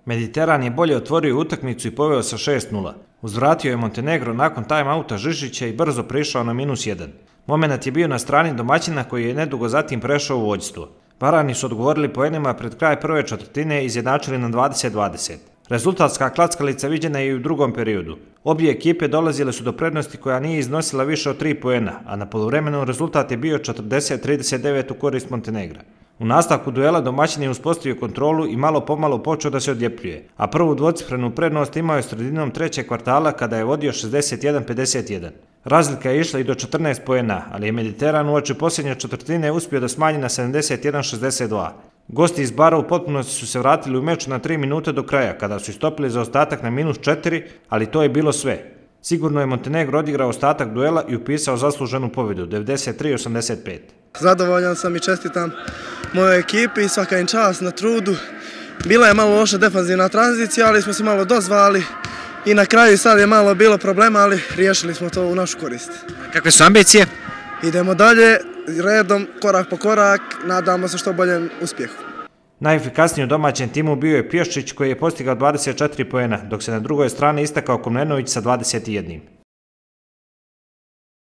Mediteran je bolje otvorio utakmicu i poveo sa 6:0. Uzvratio je Montenegro nakon time-outa Žižića i brzo prišao na -1. Momenat je bio na strani domaćina koji je nedugo zatim prešao u vođstvo. Varani su odgovorili poenima pred kraj prve četvrtine i izjednačili na 20:20. Rezultatska klackalica viđena je i u drugom periodu. Obje ekipe dolazile su do prednosti koja nije iznosila više od 3 poena, a na poluvremenu rezultat je bio 40-39 u korist Montenegra. U nastavku duela domaćin je uspostavio kontrolu i malo pomalo počeo da se odljepljuje, a prvu dvocifrenu prednost imao je sredinom trećeg kvartala kada je vodio 61-51. Razlika je išla i do 14 poena, ali je Mediteran uoči posljednje četvrtine uspio da smanji na 71-62. Gosti iz Bara u potpunosti su se vratili u meč na 3 minute do kraja, kada su istopili zaostatak na -4, ali to je bilo sve. Sigurno je Montenegro odigrao ostatak duela i upisao zasluženu pobjedu, 93-85. Zadovoljan sam i čestitam mojoj ekipi i svaka im čast na trudu. Bila je malo loša defanzivna tranzicija, ali smo se malo dozvali i na kraju sad je malo bilo problema, ali riješili smo to u našu korist. Kakve su ambicije? Idemo dalje, redom, korak po korak, nadamo se što boljem uspjehu. Najefikasniji u domaćem timu bio je Pješčić koji je postigao 24 poena, dok se na drugoj strani istakao Komnenović sa 21.